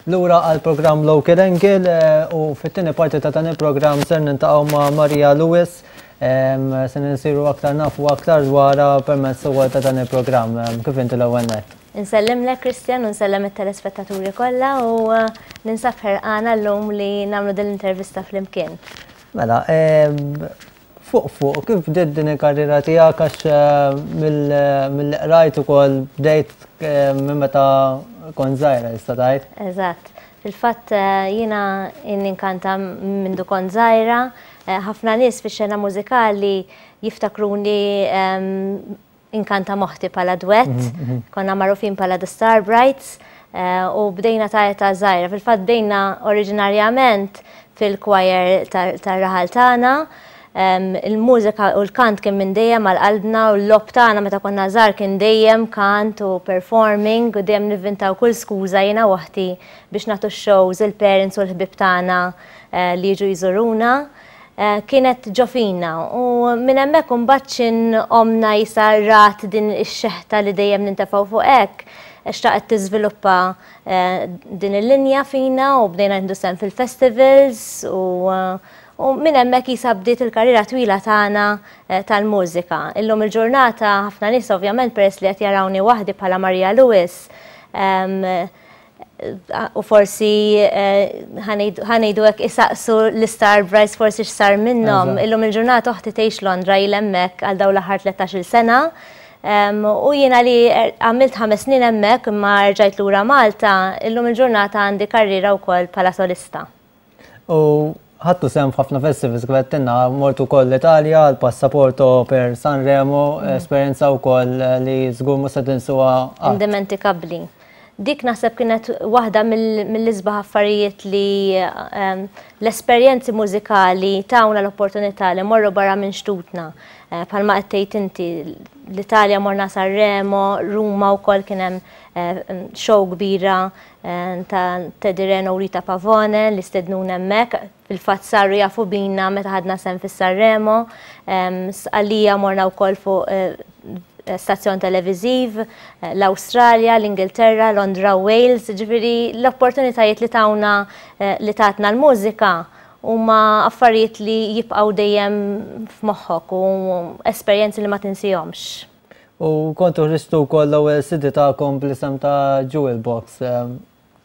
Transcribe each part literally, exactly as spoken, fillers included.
Lura għal programm Local Angle eh, u fit-tieni parti ta' dan il-programm ser niltaqgħu ma' Maria Lewis, em, se nsiru aktar nafu aktar dwarha permezz ukoll ta' dan il-programm. Em, Kif inti l-ewwel nett? Insellimlek, Christian, u nsellem it-telespettaturi kollha u uh, ninsab ħerqana llum li nagħmlu din l-intervista flimkien. Mela, em, fuq fuq, kif bdiet din il-karriera tiegħek, għax eh, mill- mill-qrajt ukoll bdejt eh, minn meta kont żgħira, tista' tgħid? Eżatt. Fil-fatt eh, jiena inkanta mindu kont żgħira, eh, ħafna nies fix-xena mużikali jiftakruni em, inkanta m'oħti bħala duett, konna magħrufin bħala The Star Brights, eh, u bdejna ta' età żgħira. Fil-fatt bdejna oriġinarjament fil-choir tar-raħal tagħna. Em, Il-mużika u l-kant kien minn dejjem għal qalbna u l-logħob tagħna meta konna żgħar kien dejjem kant u performing u dejjem nivvintaw kull skuża jiena u oħti biex nagħtu shows il-parents u l-ħbib tagħna eh, li jiġu jżuruna. Eh, Kienet ġo fina u minn hemmhekk imbagħad xin omna jisa rat din ix-xeħta li dejjem nintefgħu fuq hekk, xtaqet tiżviluppa eh, din il-linja fina u bdejna nieħdu sehem fil-festivals u eh, u minn hemmhekk jisa bdiet il-karriera twila tagħna eh, tal-mużika. Illum il-ġurnata ħafna nies, ovvjament, peress li qed jarawni waħdi bħala Maria Lewis, em, u forsi eh, ħa ngħidu hekk, isaqsu l-Star Brights forsi x'sar minnhom. Eżatt. Illum il-ġurnata oħti tgħix Londra, ilha hemmhekk għal dawn l-aħħar tlettax-il sena. Em, U jiena li er- għamilt ħames snin hemmhekk imma rġajt lura Malta, illum il-ġurnata għandi karriera wkoll bħala solista. U ħadtu sehem f'ħafna festivals, kif għedtilna, mortu wkoll l-Italja, l-Passaporto per Sanremo, esperjenza wkoll li żgur mhux se tinsuha qatt. Indimentikabli. Dik naħseb kienet waħda mill- mill-isbaħ affarijiet li em, l-esperjenzi mużikali tawna l-opportunità li morru barra minn xtutna. Eh, Bħalma qed tgħid inti, l-Italja morna Sanremo, Ruma wkoll kien hemm eh, show kbira eh, ta' Teddy Reno u Rita Pavone li stednuna hemmhekk. Fil-fatt saru jafu bina meta ħadna sehem fis-Sanremo. Em, Sqallija morna wkoll fuq eh, stazzjon televiziv, eh, l-Awstralja, l-Ingilterra, Londra, Wales, ġifieri l-opportunitajiet li tawna eh, li tatna l-mużika huma affarijiet li jibqgħu dejjem f'moħħok u esperjenzi li ma tinsihomx. U kontu ħriġtu wkoll l-ewwel C D tagħkom bl-isem ta' Jewel Box. em,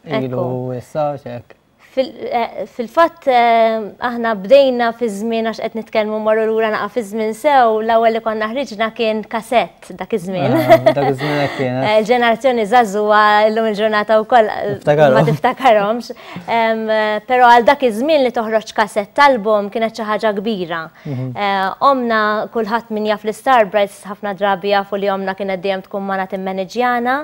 Ilu Ekku. issa xek. Fil- eh, Fil-fatt eh, aħna bdejna fi żmien, għax qed nitkellmu morru lura naqa' fi żmien sew, l-ewwel li konna ħriġna kien kasett dak iż-żmien. Ah, dak iż-żmien hekk kienet. Eh, Il-ġenerazzjoni żagħżugħa llum il-ġurnata wkoll eh, Niftakarhom. ma tiftakarhomx. Em, eh, Però għal dak iż-żmien li toħroġ kasett album kienet xi ħaġa kbira. Eh, Omna, kulħadd min jaf l-Star Brights, ħafna drabi jafu li omna kienet dejjem tkun magħna timmaneġġjana.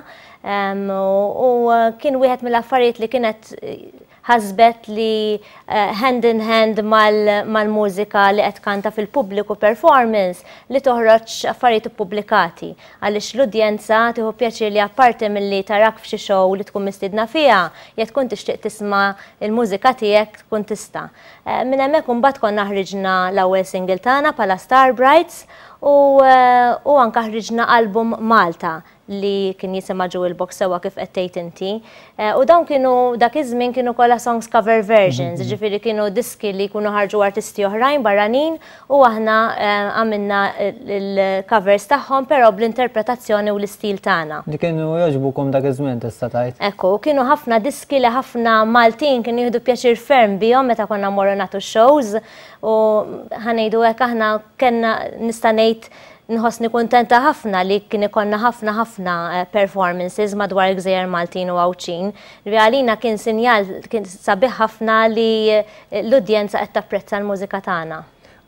Em, U u kien wieħed mill-affarijiet li kienet eh, ħasbet li eh, hand in hand mal- mal-mużika li qed kanta fil-pubbliku, performance, li toħroġ affarijiet ippubblikati. Għaliex l-udjenza tieħu pjaċir li apparti milli tarak f'xi show li tkun mistiedna fiha, jekk tkun tixtieq tisma' il-mużika tiegħek tkun tista'. Eh, Minn hemmhekk imbagħad konna ħriġna l-ewwel single tagħna bħala Star Brights u, eh, u anka ħriġna album Malta li kien jisimha Jewel Box, sewwa kif qed tgħid inti. Eh, U dawn kienu, dak iż-żmien kienu kollha songs cover versions, ġifieri kienu diski li jkunu ħarġu artisti oħrajn barranin u aħna eh, għamilna il-covers tagħhom, però bl-interpretazzjoni u l-istil tagħna. Li kienu jogħġbukom dak iż-żmien, tista' tgħid. Ekku, kienu ħafna diski li ħafna Maltin kienu jieħdu pjaċir ferm bihom meta konna morru nagħtu shows u ħa ngħidu hekk, aħna kellna, nista' ngħid nħossni kuntenta ħafna li kien ikollna ħafna ħafna eh, performances madwar il-gżejjer Maltin u Għawdxin. Li għalina kien sinjal, kien sabiħ ħafna li eh, l-udjenza qed tapprezza l-mużika tagħna.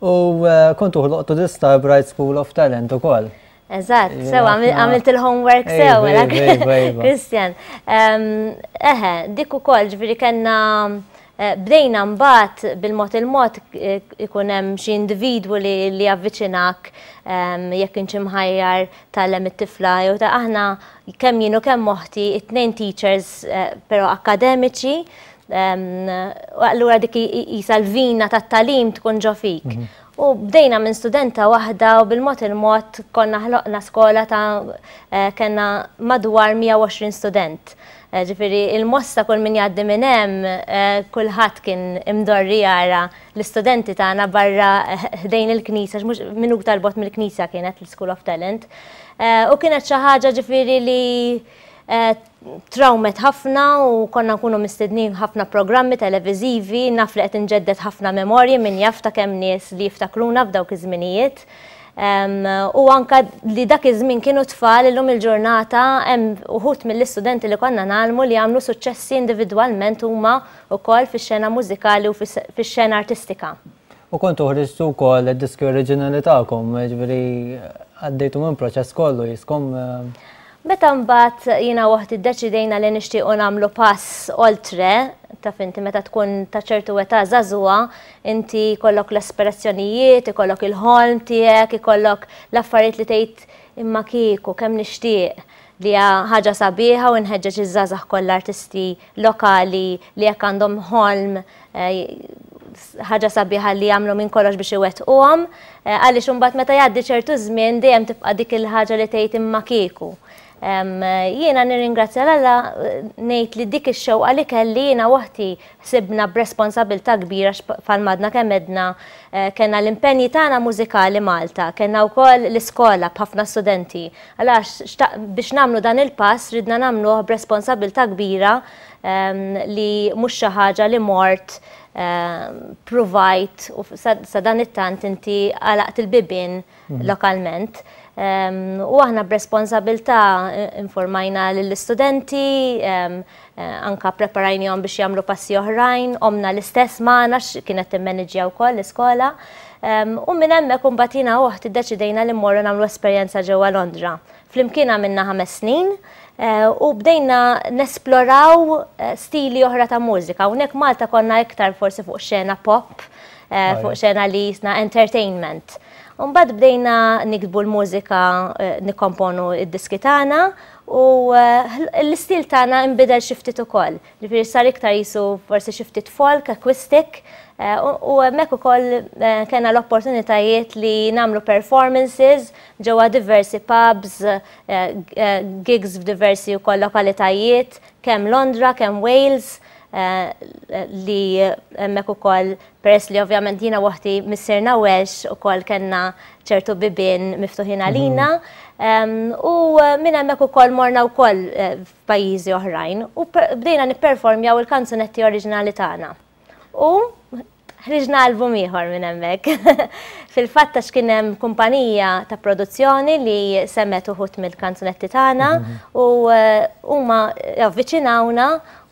U eh, kontu ħloqtu The Star Bright School of Talent ukoll. Eżatt, Jiena sew, ħafna- għamilt il-homework Ejva, sew, ejva, ejva, ejva. Christian. Em, Eħe, dik ukoll, ġifieri kellna eh, bdejna mbagħad bil-mod il-mod eh, ikun hemm xi individwu li li javviċinak em, jekk inti mħajjar tgħallem it-tifla jew ta' aħna kemm jien u kemm oħti it-tnejn teachers, eh, però akademiċi, em, u allura dik jisa l-vina tat-tagħlim tkun ġo fik. U bdejna minn studenta waħda u bil-mod il-mod konna ħloqna skola ta' eh, kellna madwar mija u għoxrin student. Eh, ġifieri il-Mosta kull min jgħaddi minn hemm, eh, kulħadd kien imdorri jara l-istudenti tagħna barra eh, ħdejn il-knisja, mhux minuta 'l bogħod mill-knisja kienet l-School of Talent. U kienet xi ħaġa ġifieri li trawmet ħafna u konna nkunu mistednin ħafna programmi televiżivi, naf li qed inġedded ħafna memorji minn jaf ta' kemm nies li jiftakruna f'dawk iż-żminijiet. U anka li dak iż-żmien kienu tfal, illum il-ġurnata hemm uħud mill-istudenti li konna ngħallmu li għamlu suċċessi individwalment huma wkoll fix-xena mużikali u fix-xena artistika. U kontu ħriġtu wkoll id-diski oriġinali tagħkom, ġifieri għaddejtu minn proċess kollu jiskom. Meta mbagħad jiena u oħti ddeċidejna li nixtiequ nagħmlu pass oltre, taf inti meta tkun ta' ċertu età żagħżugħa, inti jkollok l-aspirazzjonijiet, ikollok il-ħolm tiegħek, ikollok l-affarijiet li tgħid imma kieku kemm nixtieq, li ħaġa sabiħa u nħeġġeġ iż-żgħażagħ kollha artisti lokali li jekk għandhom ħolm, eh, ħaġa sabiħa li jagħmlu minn kollox biex iwettquhom, eh, għaliex imbagħad meta jgħaddi ċertu żmien dejjem tibqa' dik il-ħaġa li tgħid imma kieku. Jiena nirringrazzja l-Alla, ngħid li dik ix-xewqa li kelli jiena u oħti sibna b'responsabilità kbira falmadna kemm edna eh, kellna l-impenji tagħna mużikali Malta, kellna wkoll l-iskola b'ħafna studenti. Għalax biex nagħmlu dan il-pass ridna nagħmluh b'responsabilità kbira li mhux xi ħaġa li mort provajt u sa dan it-tant inti għalaqt il-bibien mhm. lokalment. U aħna b'responsabilità eh, informajna lill-istudenti, eh, anka preparajnihom biex jagħmlu passi oħrajn, ommna l-istess magħna kienet timmaniġġja wkoll l-iskola. U minn hemmhekk imbagħad jiena u oħti ddeċidejna li mmorru nagħmlu esperjenza ġewwa Londra. Flimkien għamilna ħames snin eh, u bdejna nesploraw stili oħra ta' mużika. Hawnhekk Malta konna iktar forsi fuq xena pop, fuq xena li jisna entertainment. Mbagħad bdejna niktbu l-mużika, eh, nikkomponu id-diski tagħna u eh, l-istil tagħna nbidel xi ftit ukoll. Ġifieri sar iktar jisu forsi xi ftit folk, acoustic, eh, u hemmhekk ukoll kellna l-opportunitajiet li nagħmlu performances ġewwa diversi pubs, gigs f'diversi wkoll lokalitajiet, kemm Londra, kemm Wales, li hemmhekk ukoll peress li ovvjament jiena u oħti missierna Welsh ukoll kellna ċertu bibien miftuħin għalina. U minn hemmhekk ukoll morna wkoll eh, f'pajjiżi oħrajn u bdejna nipperformjaw il-kanzunetti oriġinali tagħna. U ħriġna album ieħor minn hemmhekk. Fil-fatt għax kien hemm kumpanija ta' produzzjoni li semgħet uħud mill-kanzunetti tagħna mhm. u eh, huma avviċinawna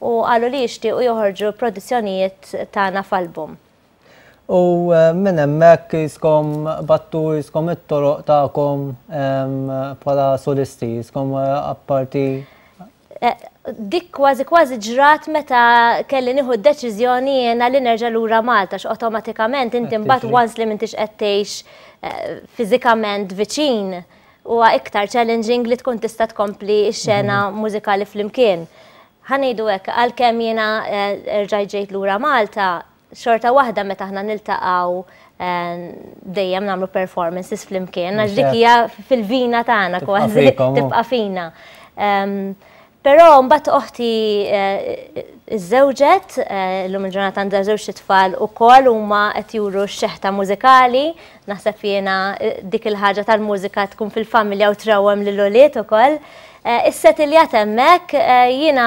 u qalu li jixtiequ joħorġu produzzjonijiet tagħna f'album. U eh, minn hemmhekk jiskom battu jiskom it-toroq tagħkom bħala solisti, jiskom eh, apparti. Eh, dik kważi kważi ġrat meta kelli nieħu d-deċiżjoni jiena li nerġa' lura Malta, x'awtomatikament inti mbagħad once li m'intix qed tgħix fiżikament viċin huwa iktar challenging li tkun tista' tkompli x-xena mhm. mużikali flimkien. Ħa ngħidu hekk, għalkemm jiena rġajt ġejt lura Malta, xorta waħda meta aħna niltaqgħu eh, dejjem nagħmlu performances flimkien, għax dik hija fil-vina tagħna kważi tibqa' fina. Però mbagħad oħti eh, iżżewġet, eh, illum il-ġurnata għandha żewġ tfal ukoll huma qed juru x-xeħta mużikali, naħseb jiena dik il-ħaġa tal-mużika tkun fil-familja u trawwem lil ulied ukoll. Issettiljat hemmhekk, jiena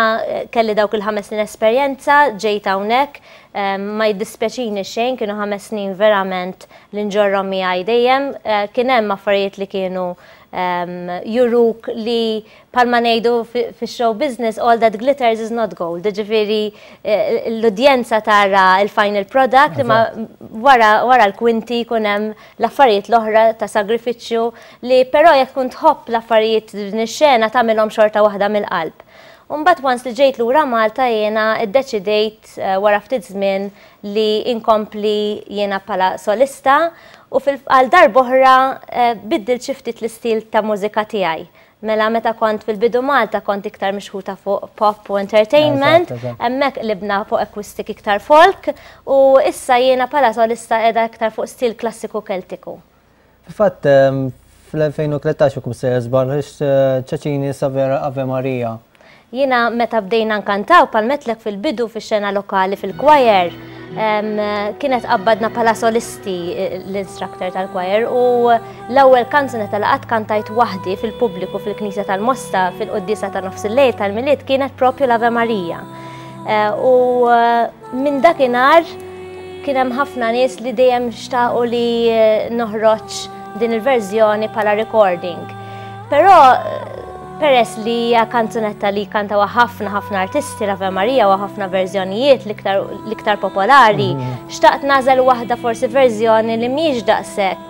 kelli dawk il-ħames snin esperjenza, ġejt hawnhekk, ma jiddispjaċini xejn, kienu ħames snin verament li nġorrhom miegħi dejjem. Eh, kien hemm affarijiet li kienu juruk li bħalma ngħidu fi-show business, all that glitters is not gold. Ġifieri eh, l-udjenza tara il-final product, imma wara, wara l-kwinti jkun hemm l-affarijiet l-oħra ta' sagrifiċċju li però jekk tkun tħobb l-affarijiet din ix-xena tagħmilhom xorta waħda mill-qalb. Mbagħad once li ġejt lura Malta jiena iddeċidejt eh, wara ftit żmien li inkompli jiena bħala solista u għal darb'oħra eh, biddilt xi ftit l-istil ta' mużika tiegħi. Mela meta kont fil-bidu Malta kont iktar mixħuta fuq pop u entertainment, hemmhekk qlibna fuq acoustic iktar folk u issa jiena bħala solista qiegħda iktar fuq stil klassiku Keltiku. Fil-fatt fl-elfejn u tlettax u kum sejjer żball ċaċini Savera Ave Maria. Jiena meta bdejna nkantaw bħalma għedtlek fil-bidu fix-xena lokali fil-choir, kienet qabbadna bħala solisti l-instructor tal-choir u l-ewwel kanzunetta li qatt kantajt waħdi fil-pubbliku fil-Knisja tal-Mosta fil-Quddiesa ta' nofs il-lejl tal-Milied kienet propju l-Ave Maria. U minn dakinhar kien hemm ħafna nies li dejjem xtaqu li noħroġ din il-verżjoni bħala recording. Però peress li hija kanzunetta li kantawha ħafna ħafna artisti l-Ave Maria u ħafna verżjonijiet l-iktar popolari, xtaqt nagħżel waħda forsi verżjoni li mhijiex daqshekk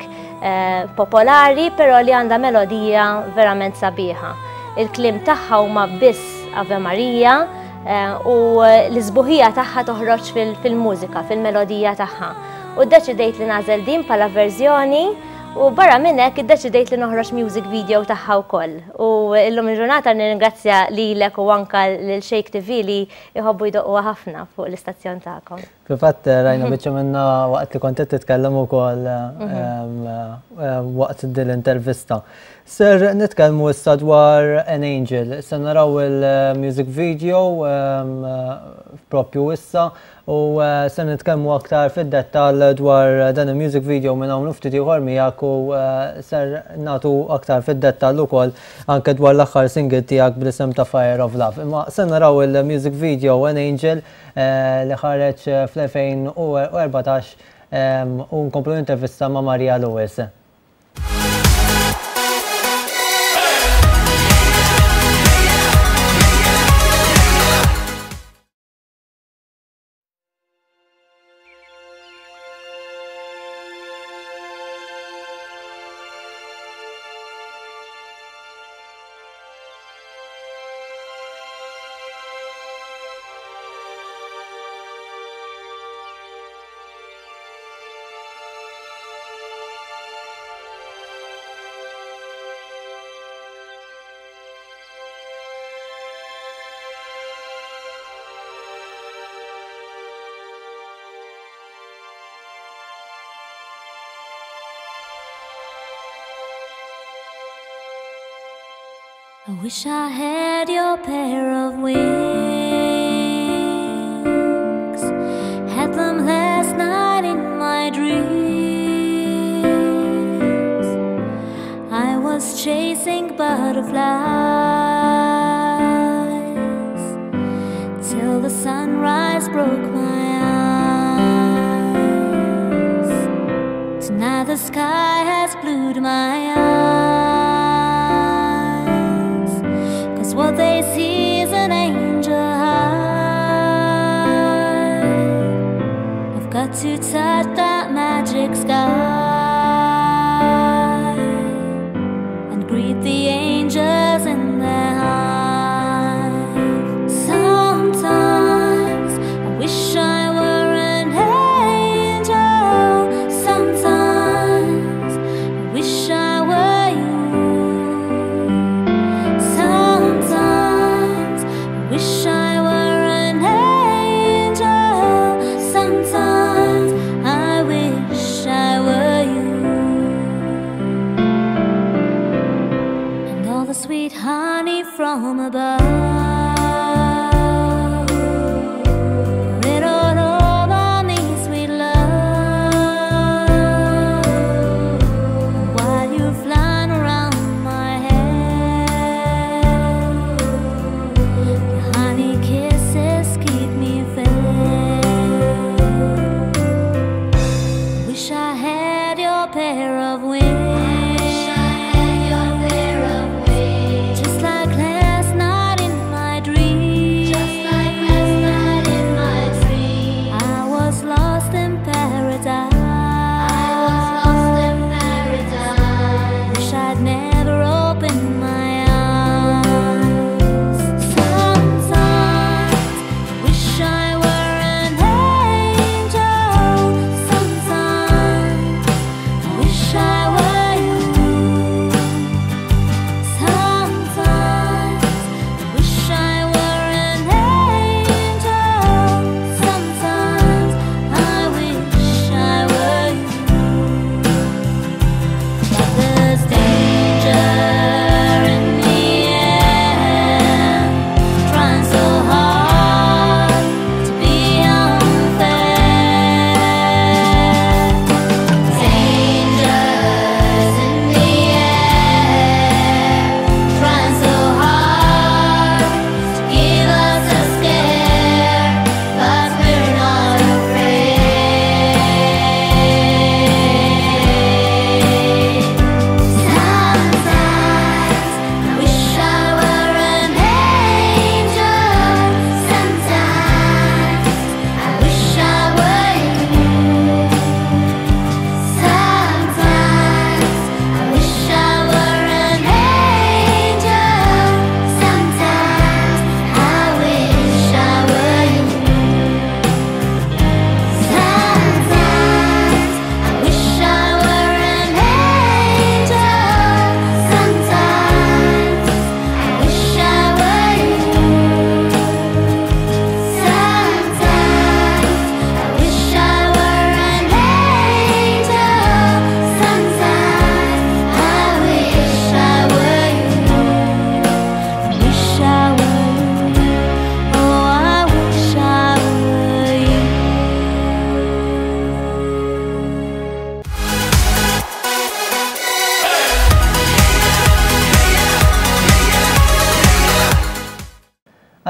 popolari, però li għandha melodija verament sabiħa. Il-kliem tagħha huma biss Ave Maria u l-isbuħija tagħha toħroġ fil-mużika, fil-melodija tagħha. U ddeċidejt li nagħżel din bħala verżjoni u barra minn hekk iddeċidejt li noħroġ music video tagħha wkoll. U illum il-ġurnata nirringrazzja lilek u anka lil Shake T V li jħobbu jdoqquha ħafna fuq l-istazzjon tagħkom. Fil-fatt rajna biċċa minna waqt li kont qed titkellem ukoll waqt din l-intervista. Ser nitkellmu issa dwar An Angel. Se naraw il-music video propju issa u se nitkellmu aktar fid-dettall dwar dan il-music video minn hawn ftit ieħor miegħek u ser nagħtu aktar fid-dettall ukoll anke dwar l-aħħar single tiegħek bl-isem ta' Fire of Love. Imma se naraw il-music video An Angel li ħareġ fl-elfejn u erbatax u nkomplu l-intervista ma' Maria Lewis. I wish I had your pair of wings, had them last night in my dreams. I was chasing butterflies till the sunrise broke my eyes. Tonight the sky has glued my eyes. What they see is an angel high. I've got to touch that magic sky and greet the angels in their hive. Sometimes I wish I were an angel. Sometimes I wish I were you. Wish I were an angel. Sometimes I wish I were you. And all the sweet honey from above, pour it all over me, sweet love. While you're flying around my head, honey kisses keep me fed. Wish I had your pair of wings. Wish I had your pair of wings. Just like last night in my dream. Just like last night in my dream. I was lost in paradise. I was lost in paradise. Wish I'd never opened my eyes. Sometimes I wish I were an angel. Sometimes I wish I were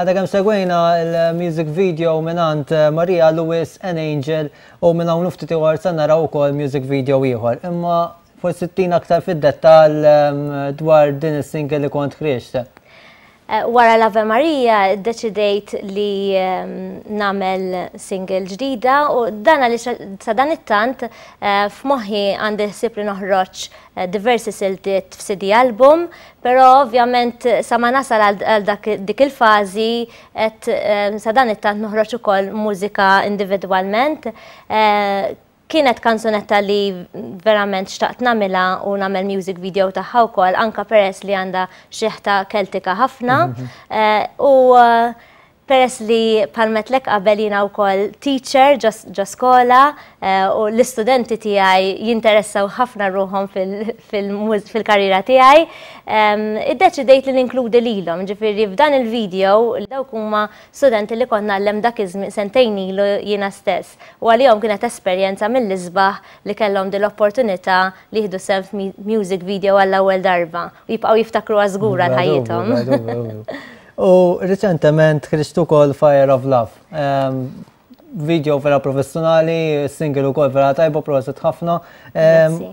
Għadna kemm segwejna il-music video mingħand Maria Lewis An Angel u minn hawn ftit ieħor se naraw ukoll music video ieħor. Imma forsi ttina aktar fid-dettall dwar din is-single li kont ħriġt. Eh, wara l-Ave Maria deċidejt li nagħmel single ġdida u dan għaliex sa dan it-tant eh, f'moħħi għandi ħsieb li noħroġ eh, diversi siltiet f'C D album, però ovvjament sa ma nasal għal dik il-fażi et sa dan it-tant noħroġ ukoll mużika individwalment. Kienet kanzunetta li verament xtaqt nagħmilha u nagħmel music video tagħha wkoll, anka peress li għandha xiħta Keltika ħafna. Mhm. Eh, u eh, peress li bħalma għedtlek qabel jiena wkoll teacher ġo skola eh, u l-istudenti tiegħi jinteressaw ħafna ruħhom fil-karriera tiegħi, iddeċidejt li ninkludi lilhom. Ġifieri f'dan il-video dawk huma studenti li kont ngħallem dak iż-żmien sentejn ilu jiena stess. U għalihom kienet esperjenza mill-isbaħ li kellhom din l-opportunità li jieħdu sehem music video għall-ewwel darba u jibqgħu jiftakru żgur għal ħajjithom. U reċentement ħriġt ukoll Fire of Love. Video vera professjonali, single ukoll vera tajba, prosit ħafna.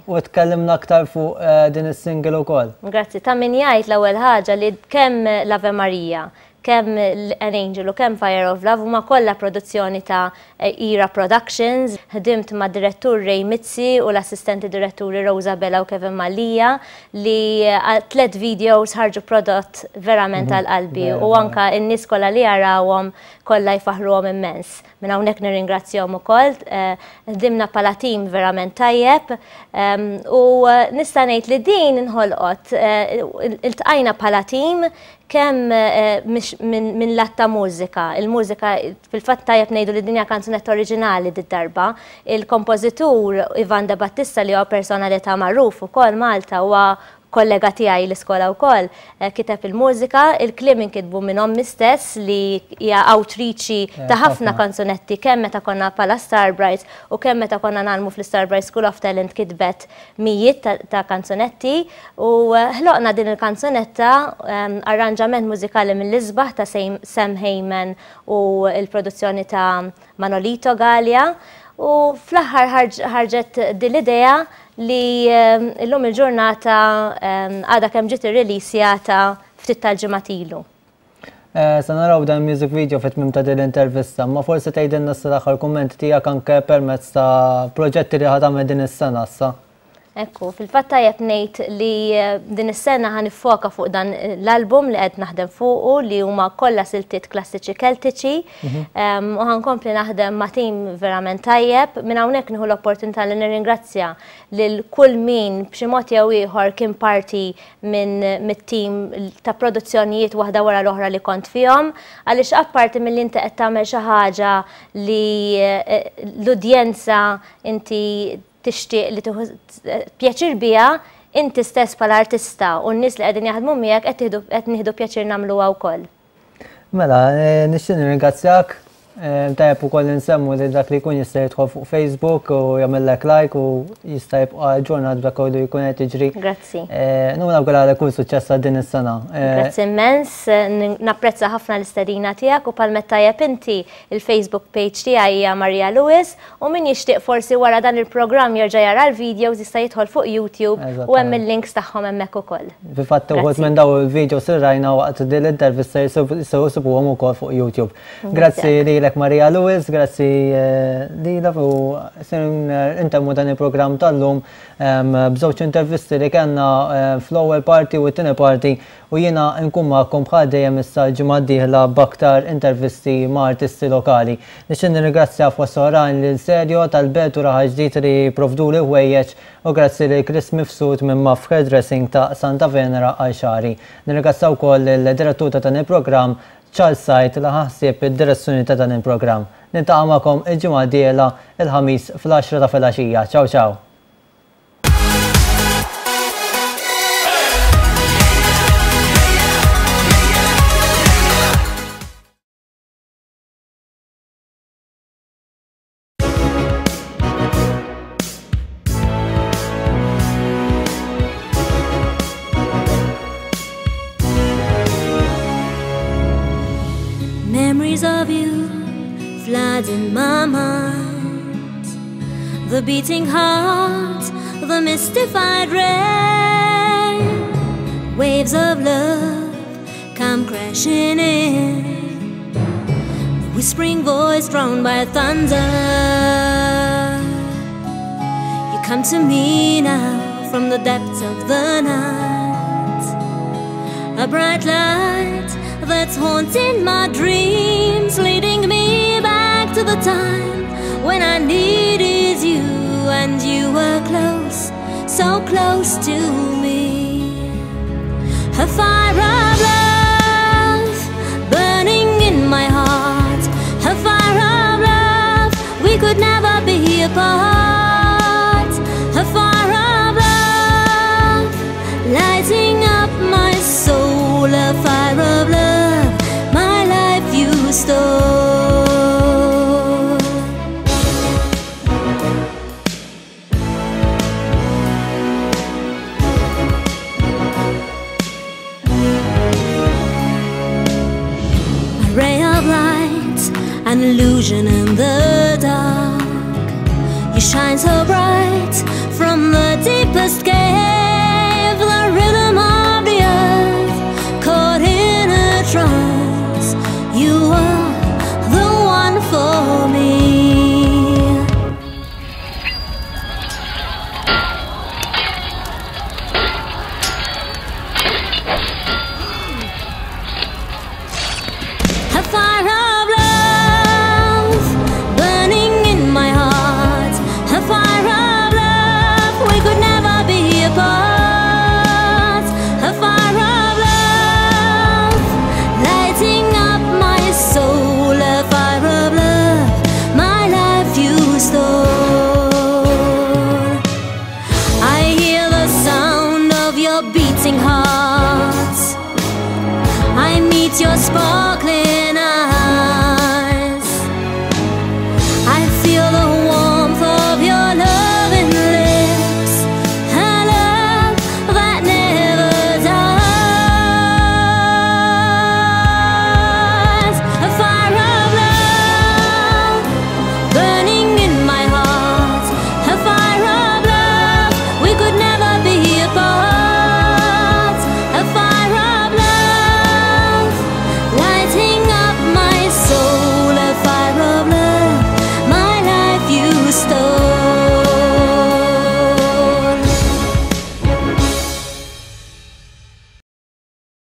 U tkellimna aktar fuq eh, din is-single ukoll. Grazzi, ta' min jgħid l-ewwel ħaġa li kemm l-Ave Maria, kemm An Angel u kemm Fire of Love huma kollha produzzjoni ta' Era Productions. Ħdimt ma' direttur Ray Mizzi u l-assistenti diretturi Rosa Bella u Kevin Mallia li tlet videos ħarġu prodott verament mhm. għal qalbi u anka n-nies kollha li jarawhom kollha jfaħruhom immens. Minn hawnhekk nirringrazzjahom ukoll. Eh, ħdimna bħala team verament tajjeb u eh, nista' ngħid li din inħolqot eh, iltqajna bħala team kemm minn lat ta' mużika. Il-mużika, fil-fatt tajjeb ngħidu li din hija kanzunetta oriġinali did-darba. Il-kompożitur Ivan De Battista, li huwa personalità magħruf ukoll Malta, huwa kollega tiegħi l-iskola wkoll, eh, kiteb il-mużika, il-kliem inkitbu minn ommi stess li hija awtriċi eh, ta' ħafna kanzunetti, kemm meta konna bħala Star Brights u kemm meta konna ngħallmu fl-Star Bright School of Talent kitbet mijiet ta' kanzunetti u eh, ħloqna din il-kanzunetta, arranġament mużikali mill-isbaħ ta' Sam Heyman u il-produzzjoni ta' Manolito Gallia, u fl-aħħar ħarġet din l-idea li ehm, illum il-ġurnata ehm, għadha kemm ġiet irreleasjata ftit tal-ġimgħat ilu. Eh, sa naraw dan music video fit-tmiem ta' din l-intervista, ma forsi tgħidilna l-aħħar kumment tiegħek anke permezz ta' proġetti li ħa tagħmel din is-sena issa. Ekku, fil-fatt tajjeb ngħid li eh, din is-sena ħa niffoka fuq dan l-album li qed naħdem fuqu, li huma kollha siltiet klassiċi Keltiċi mhm. u ħa nkompli naħdem ma' tim verament tajjeb. Minn hawnhekk nieħu l-opportunità li nirringrazzja lil kull min b'xi mod jew ieħor kien parti minn mit-tim ta' produzzjonijiet waħda wara l-oħra li kont fihom, għaliex apparti milli inti qed tagħmel xi ħaġa li eh, l-udjenza inti tixtieq li tieħu pjaċir biha, inti stess bħala artista u n-nies li qegħdin jaħdmu miegħek qed nieħdu pjaċir nagħmluha wkoll. Mela, eh, nixtieq nirringrazzjak. Eh, tajjeb ukoll nsemmu li dak li jkun jista' jidħol fuq Facebook u jagħmellek like u jista' jibqa' aġġornat b'dak kollu jkun qed jiġri. Grazzi. Eh, Nawguralek kull suċċess għal din is-sena. Grazzi immens, napprezza ħafna l-istedina tiegħek u bħalma tajjeb inti, il-Facebook page tiegħi hija Maria Lewis u min jixtieq forsi wara dan il-programm jerġa' jara l-videos jista' jidħol fuq YouTube u hemm il-links tagħhom hemmhekk ukoll. Fil-fatt uħud minn daw il-videos rajna waqt din l-intervista jistgħu jsibuhom ukoll fuq YouTube. Grazzi lilek, Maria Lewis, grazzi eh, lilek, u intemmu dan il-programm tal-lum b'żewġ intervisti li kellna eh, fl-ewwel parti u t-tieni parti, u jiena nkun magħkom bħal dejjem issa l-ġimgħa d-dieħla b'aktar intervisti ma' artisti lokali. Nixtieq nirringrazzja fost oħrajn lil Serjo tal-Belt u Raħal Ġdid li provduli ħwejjeġ u grazzi lil Chris Mifsud minn Maf Hairdressing ta' Santa Venera għal xagħri. Nirringrazzja wkoll il-direttur ta' dan il-programm Charles Sajt li ħa ħsieb id-direzzjoni ta' dan il-programm. Niltaqa' magħkom il-ġimgħa d-dieħla, il-Ħamis, fl-għaxra ta' filgħaxija. Ciao ciao! in my mind, the beating heart, the mystified rain. Waves of love come crashing in, the whispering voice drowned by thunder. You come to me now from the depths of the night, a bright light that's haunting my dreams, leading me back to the time when I needed you and you were close, so close to me. A fire of love burning in my heart, a fire of love, we could never be apart. A fire of love lighting up my soul, a fire of love, my life you stole. A ray of light, an illusion in the dark. You shine so bright from the deepest cave, the rhythm of the earth caught in a trance. You are the one for me. A fire of love burning in my heart, a fire of love, we could never be apart. A fire of love lighting up my soul, a fire of love, my life you stole. I hear the sound of your beating heart, I meet your sparkling